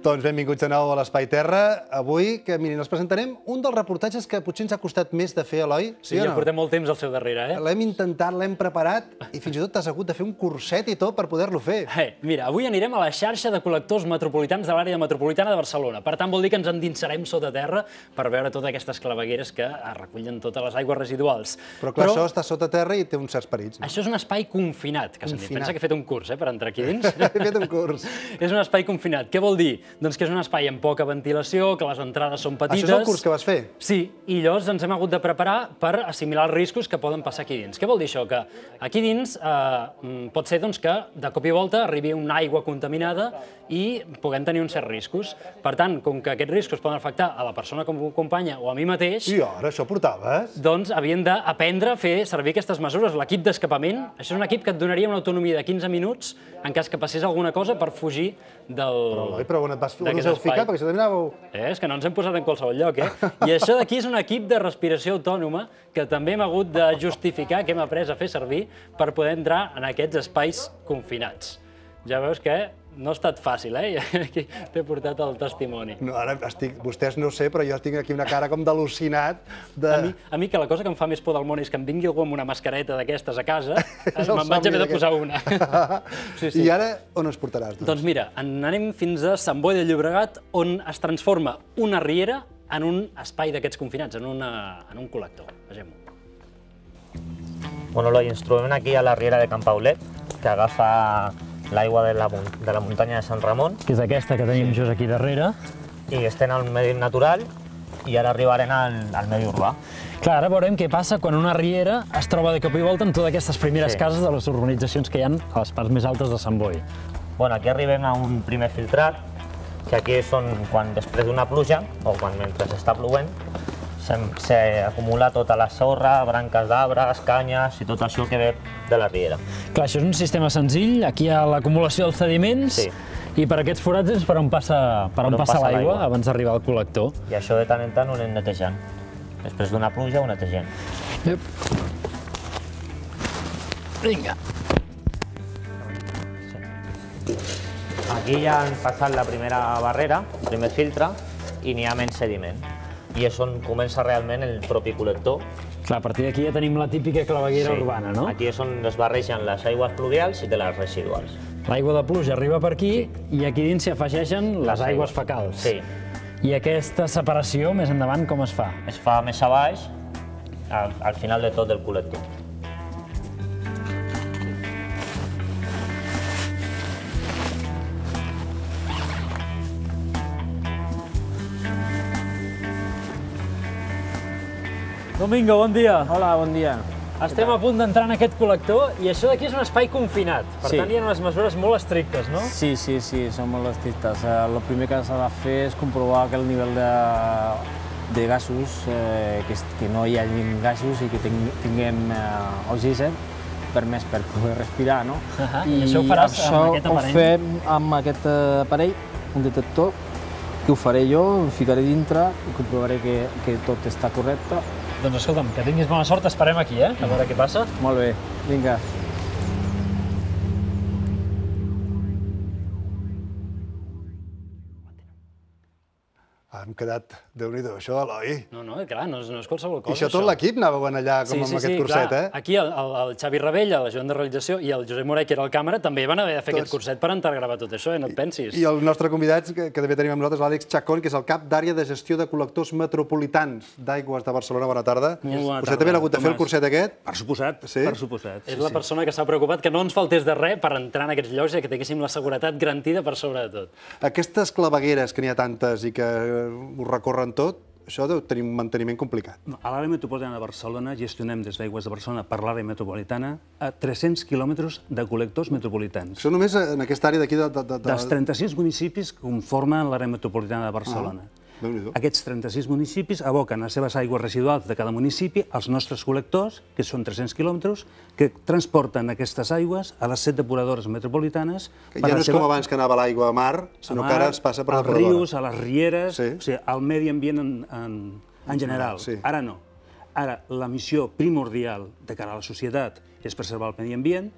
Doncs benvinguts de nou a l'Espai Terra. Avui, que mirin, els presentarem un dels reportatges que potser ens ha costat més de fer, Eloi. Sí, ja portem molt temps al seu darrere, eh? L'hem intentat, l'hem preparat i fins i tot t'has hagut de fer un curset i tot per poder-lo fer. Mira, avui anirem a la xarxa de col·lectors metropolitans de l'àrea metropolitana de Barcelona. Per tant, vol dir que ens endinsarem sota terra per veure totes aquestes clavegueres que recullen totes les aigües residuals. Però clar, això està sota terra i té uns certs perills. Això és un espai confinat, que se'n diu. Pensa que he fet un curs, per entrar aquí dins. He fet un curs. És un espai confinat. Què vol dir? Doncs que és un espai amb poca ventilació, que les entrades són petites... Això és el curs que vas fer? Sí, i llavors ens hem hagut de preparar per assimilar els riscos que poden passar aquí dins. Què vol dir això? Que aquí dins pot ser que de cop i volta arribi una aigua contaminada i puguem tenir uns certs riscos. Per tant, com que aquests riscos poden afectar a la persona que m'acompanya o a mi mateix... I ara això portaves? Doncs havien d'aprendre a fer servir aquestes mesures. L'equip d'escapament, això és un equip que et donaria una autonomia de 15 minuts en cas que passés alguna cosa per fugir Però on us heu ficat? Perquè això també anàveu... És que no ens hem posat en qualsevol lloc, eh? I això d'aquí és un equip de respiració autònoma que també hem hagut de justificar, que hem après a fer servir per poder entrar en aquests espais confinats. Ja veus que no ha estat fàcil, eh? Aquí t'he portat el testimoni. Ara estic... Vostès no ho sé, però jo tinc aquí una cara com d'al·lucinat de... A mi que la cosa que em fa més por del món és que em vingui algú amb una mascareta d'aquestes a casa, me'n vaig haver de posar una. I ara on ens portaràs? Doncs mira, anem fins a Sant Boi de Llobregat, on es transforma una riera en un espai d'aquests confinats, en un col·lector. Vegem-ho. Bueno, Eloi, ens trobem aquí a la riera de Can Paulet, que agafa l'aigua de la muntanya de Sant Ramon. Que és aquesta que tenim just aquí darrere. I estem al medi natural i ara arribarem al medi urbà. Clar, ara veurem què passa quan una riera es troba de cop i volta en totes aquestes primeres cases de les urbanitzacions que hi ha a les parts més altes de Sant Boi. Bueno, aquí arribem a un primer filtrat, que aquí són quan després d'una pluja, o quan mentre està plovent, s'acumula tota la sorra, branques d'arbres, canyes i tot això que ve de la riera. Clar, això és un sistema senzill, aquí hi ha l'acumulació dels sediments i per aquests forats és per on passa l'aigua abans d'arribar al col·lector. I això de tant en tant ho anem netejant. Després d'una pluja ho netegem. Vinga. Aquí ja han passat la primera barrera, el primer filtre, i n'hi ha menys sediment. I és on comença realment el propi col·lector. Clar, a partir d'aquí ja tenim la típica claveguera urbana, no? Aquí és on es barregen les aigües pluvials i de les residuals. L'aigua de pluja arriba per aquí i aquí dins s'hi afegeixen les aigües fecals. Sí. I aquesta separació, més endavant, com es fa? Es fa més a baix, al final de tot el col·lector. Domingo, bon dia. Hola, bon dia. Estem a punt d'entrar en aquest col·lector i això d'aquí és un espai confinat. Per tant, hi ha unes mesures molt estrictes, no? Sí, són molt estrictes. El primer que s'ha de fer és comprovar que el nivell de gasos, que no hi hagi gasos i que tinguem oxigen permès per poder respirar, no? I això ho faràs amb aquest aparell? Això ho fem amb aquest aparell, un detector, que ho faré jo, em ficaré dintre i comprovaré que tot està correcte. Doncs escolta'm, que tinguis bona sort, esperem aquí, a veure què passa. Molt bé, vinga. Hem quedat... Déu-n'hi-do, això, Eloi. No, clar, no és qualsevol cosa, I això tot l'equip anàveu allà com amb aquest curset, eh? Aquí el Xavi Rebell, l'ajudant de realització, i el Josep Moret, que era el càmera, també van haver de fer aquest curset per entrar a gravar tot això, no et pensis. I el nostre convidat, que també tenim amb nosaltres, l'Àlex Chacón, que és el cap d'àrea de gestió de col·lectors metropolitans d'aigües de Barcelona. Bona tarda. Vostè també ha hagut de fer el curset aquest? Per suposat, per suposat. És la persona que s'ha preocupat que no ens faltés de res per entrar en aquests llocs i que tinguéssim la seguretat garantida per sobre de tot. Aquestes clavegueres, que n'hi ha tantes i que ho recorren tot, això deu tenir un manteniment complicat. A l'àrea metropolitana de Barcelona gestionem des d'Aigües de Barcelona per l'àrea metropolitana a 300 quilòmetres de col·lectors metropolitans. Això només en aquesta àrea d'aquí dels 36 municipis que conformen l'àrea metropolitana de Barcelona. Aquests 36 municipis aboquen les seves aigües residuals de cada municipi als nostres col·lectors, que són 300 quilòmetres, que transporten aquestes aigües a les 7 depuradores metropolitanes. Ja no és com abans que anava l'aigua a mar, sinó que ara es passa per la depuradora. Als rius, a les rieres, o sigui, al medi ambient en general. Ara no. Ara, la missió primordial de cara a la societat és preservar el medi ambient,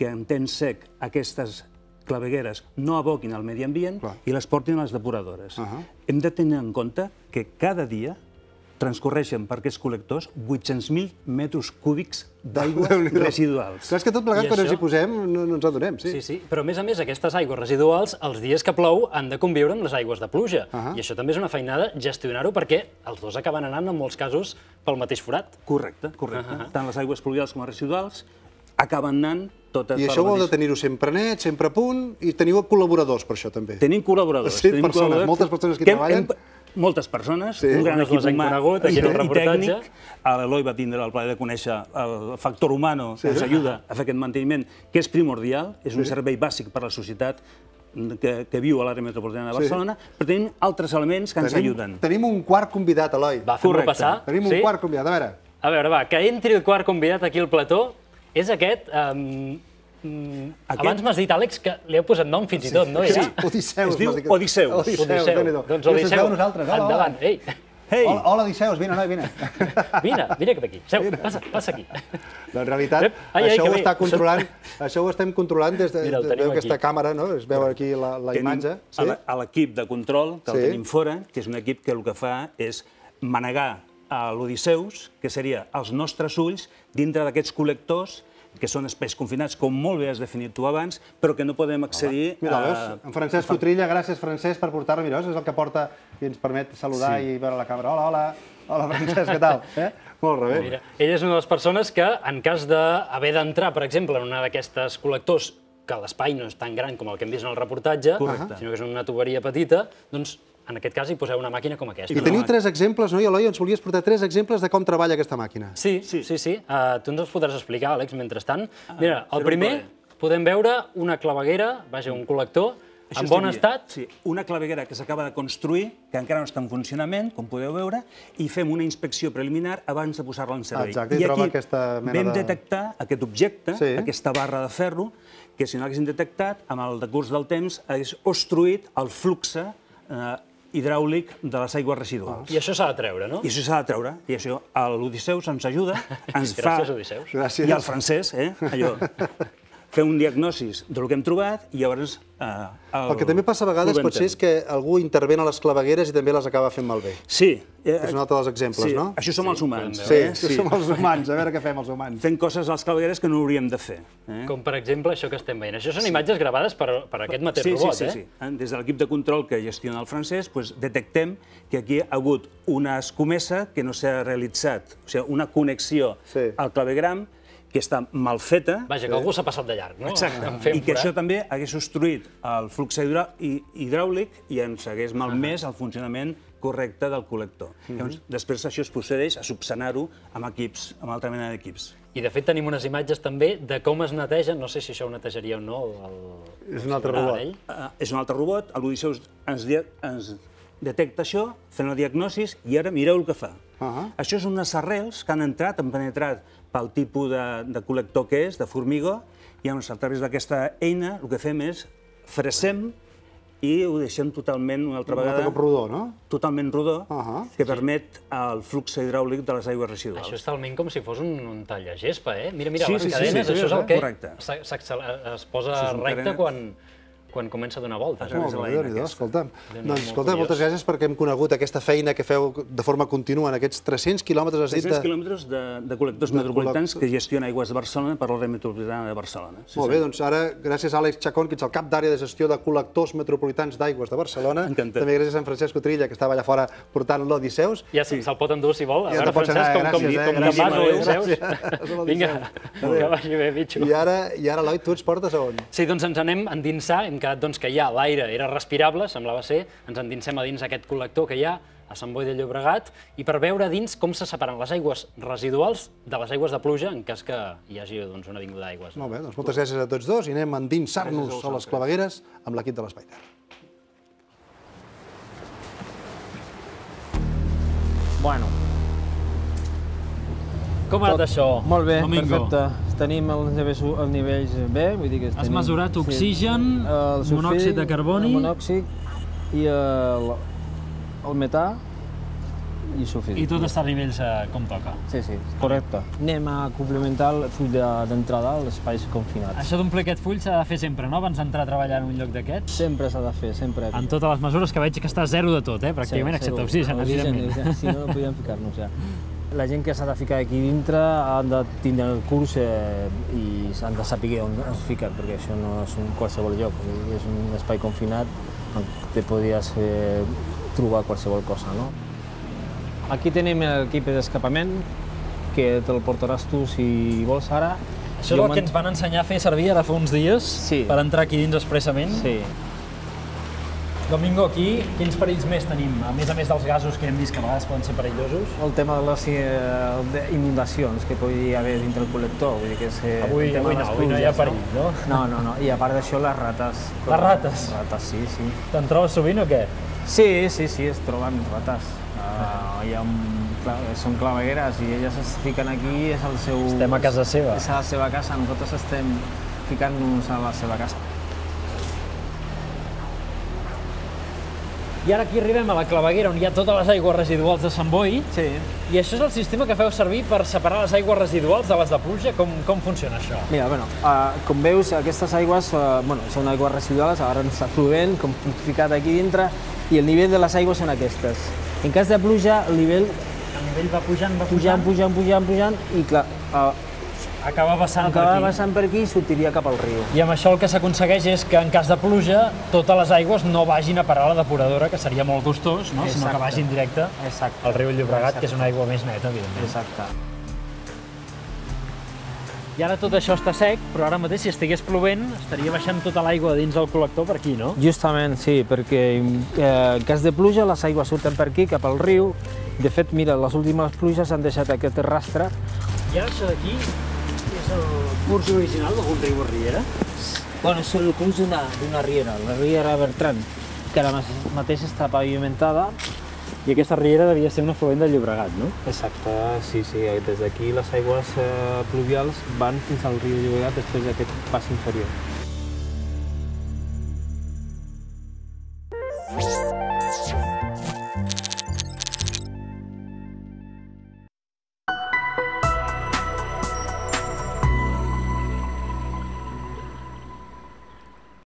que en temps sec aquestes clavegueres no aboquin al medi ambient i les portin a les depuradores. Hem de tenir en compte que cada dia transcorreixen per aquests col·lectors 800.000 metres cúbics d'aigua residuals. Clar, és que tot plegat, quan ens hi posem, no ens adonem, sí. Sí, però a més, aquestes aigües residuals, els dies que plou, han de conviure amb les aigües de pluja. I això també és una feinada gestionar-ho perquè els dos acaben anant, en molts casos, pel mateix forat. Correcte. Tant les aigües pluvials com les residuals acaben anant totes... I això ho heu de tenir-ho sempre net, sempre a punt, i teniu col·laboradors per això, també. Tenim col·laboradors. Sí, moltes persones que treballen. Moltes persones, un gran equip humà i tècnic. L'Eloi va tindre el plaer de conèixer el factor humano que ens ajuda a fer aquest manteniment, que és primordial, és un servei bàsic per a la societat que viu a l'àrea metropolitana de Barcelona, però tenim altres elements que ens ajuden. Tenim un quart convidat, Eloi. Va, fem-lo passar. Tenim un quart convidat, a veure. A veure, va, que entri el quart convidat aquí al plató. És aquest... Abans m'has dit, Àlex, que li heu posat nom fins i tot, no? Sí, Odisseus. Es diu Odisseus. Doncs Odisseu, endavant. Ei! Hola, Odisseus, vine, noi, vine. Vine cap aquí, seu, passa aquí. En realitat, això ho estem controlant des d'aquesta càmera, no? Es veu aquí la imatge. A l'equip de control, que el tenim fora, que és un equip que el que fa és manegar a l'Odisseus, que seria els nostres ulls, dintre d'aquests col·lectors que són espais confinats, com molt bé has definit tu abans, però que no podem accedir... Mira, veus? En Francesc Cotrilla, gràcies, Francesc, per portar-lo. Mira, és el que porta i ens permet saludar i veure la càmera. Hola, Francesc, què tal? Molt bé. Ell és una de les persones que, en cas d'haver d'entrar, per exemple, en una d'aquestes col·lectors, que l'espai no és tan gran com el que hem vist en el reportatge, sinó que és una tuberia petita, doncs en aquest cas hi poseu una màquina com aquesta. I teniu 3 exemples, no? I Eloi, ens volies portar 3 exemples de com treballa aquesta màquina. Sí. Tu ens els podràs explicar, Àlex, mentrestant. Mira, el primer podem veure una claveguera, vaja, un col·lector, en bon estat. Sí, una claveguera que s'acaba de construir, que encara no està en funcionament, com podeu veure, i fem una inspecció preliminar abans de posar-la en servei. Exacte, i troba aquesta mena de... Vam detectar aquest objecte, aquesta barra de ferro, que si no l'haguéssim detectat, amb el decurs del temps, hagués obstruït el flux hidràulic de les aigües residuals. I això s'ha de treure, no? I això s'ha de treure. I això l'Odisseus ens ajuda, ens fa... Gràcies, Odisseus. I el francès, allò... fer un diagnosis del que hem trobat i llavors... El que també passa a vegades potser és que algú intervé a les clavegueres i també les acaba fent malbé. Sí. És un altre dels exemples, no? Això som els humans. Sí, som els humans. A veure què fem els humans. Fent coses a les clavegueres que no hauríem de fer. Com, per exemple, això que estem veient. Això són imatges gravades per aquest mateix robot, eh? Sí. Des de l'equip de control que gestiona el francès, detectem que aquí ha hagut una escomesa que no s'ha realitzat, o sigui, una connexió al clavegram que està mal feta. Vaja, que algú s'ha passat de llarg, no? Exacte. I que això també hagués obstruït el flux hidràulic i ens hagués malmès el funcionament correcte del col·lector. Després això es procedeix a subsanar-ho amb equips, amb altra mena d'equips. I de fet tenim unes imatges també de com es neteja, no sé si això ho netejaria o no. És un altre robot. És un altre robot, l'Odisseus ens detecta això, fent la diagnosi i ara mireu el que fa. Això és unes arrels que han entrat, han penetrat pel tipus de col·lector que és, de formigó, i a través d'aquesta eina el que fem és fresem i ho deixem totalment, una altra vegada... Com rodó, no? Totalment rodó, que permet el flux hidràulic de les aigües residuals. Això és talment com si fos un tallagespa, eh? Mira, les cadenes, això és el que es posa recte quan comença a donar voltes. Molt bé, Déu-n'hi-do, escolta'm. Doncs, escolta, moltes gràcies perquè hem conegut aquesta feina que feu de forma contínua en aquests 300 quilòmetres, has dit... 300 quilòmetres de col·lectors metropolitans que gestiona Aigües de Barcelona per l'àrea metropolitana de Barcelona. Molt bé, doncs ara, gràcies a Àlex Chacón, que ets el cap d'àrea de gestió de col·lectors metropolitans d'Aigües de Barcelona. Encantat. També gràcies a en Francesc Cotrilla, que estava allà fora portant l'Odisseus. Ja se'l pot endur, si vol. A veure, Francesc, com que vas a l'Odisseus. Vinga, que vagi bé, bitxo. I ara, Eloi, tu ens portes a on? Sí, doncs ens anem a endinsar, hem quedat que ja l'aire era respirable, semblava ser, ens endinsem a dins aquest col·lector que hi ha a Sant Boi de Llobregat i per veure dins com se separen les aigües residuals de les aigües de pluja en cas que hi hagi una vinguda d'aigües. Molt bé, doncs moltes gràcies a tots dos i anem a endinsar-nos a les clavegueres amb l'equip de l'Espai Terra. Bueno. Com ha anat això? Molt bé, perfecte. Tenim els nivells bé, vull dir que... Has mesurat oxigen, monòxid de carboni... El monòxid i el metà. i suficient. I tot està a nivells com toca. Sí, correcte. Anem a complementar el full d'entrada als espais confinats. Això d'omplir aquest full s'ha de fer sempre, no? Abans d'entrar a treballar en un lloc d'aquests? Sempre s'ha de fer, sempre. En totes les mesures, que veig que està zero de tot, pràcticament, excepte oxigen, evidentment. Si no, no podíem ficar-nos ja. La gent que s'ha de ficar aquí dintre han de tindre el curs i s'han de saber on es fiquen, perquè això no és qualsevol lloc, és un espai confinat on te podies trobar qualsevol cosa, no? Aquí tenim l'equip d'escapament, que te'l portaràs tu si vols ara. Això és el que ens van ensenyar a fer servir ara fa uns dies per entrar aquí dins expressament. Sí. Domingo, aquí quins perills més tenim? A més dels gasos que hem vist que a vegades poden ser perillosos. El tema de les inundacions que pugui haver dintre el col·lector. Vull dir que avui no hi ha perill, no? No. I a part d'això, les rates. Les rates? Les rates, sí. Te'n trobes sovint o què? Sí, es troben rates. Són clavegueres i elles es fiquen aquí, és el seu... Estem a casa seva. És a la seva casa, nosaltres estem ficant-nos a la seva casa. I ara aquí arribem a la claveguera on hi ha totes les aigües residuals de Sant Boi. Sí. I això és el sistema que feu servir per separar les aigües residuals de les de pluja? Com funciona això? Mira, com veus, aquestes aigües són aigües residuals, ara està plovent, com ficat aquí dintre, i el nivell de les aigües són aquestes. En cas de pluja, el nivell va pujant, i clar, acaba vessant per aquí i sortiria cap al riu. I amb això el que s'aconsegueix és que en cas de pluja totes les aigües no vagin a parar a la depuradora, que seria molt costós, no? Sinó que vagin directe al riu Llobregat, que és una aigua més neta, evidentment. Exacte. I ara tot això està sec, però ara mateix, si estigués plovent, estaria baixant tota l'aigua dins del col·lector per aquí, no? Justament, sí, perquè en cas de pluja les aigües surten per aquí, cap al riu. De fet, mira, les últimes pluges han deixat aquest rastre. I ara això d'aquí és el curs original d'algun riu o riera? És el curs d'una riera, la riera Bertran, que ara mateix està pavimentada. I aquesta riera devia ser un afluent del Llobregat, no? Exacte, sí. Des d'aquí les aigües pluvials van fins al riu Llobregat després d'aquest pas inferior.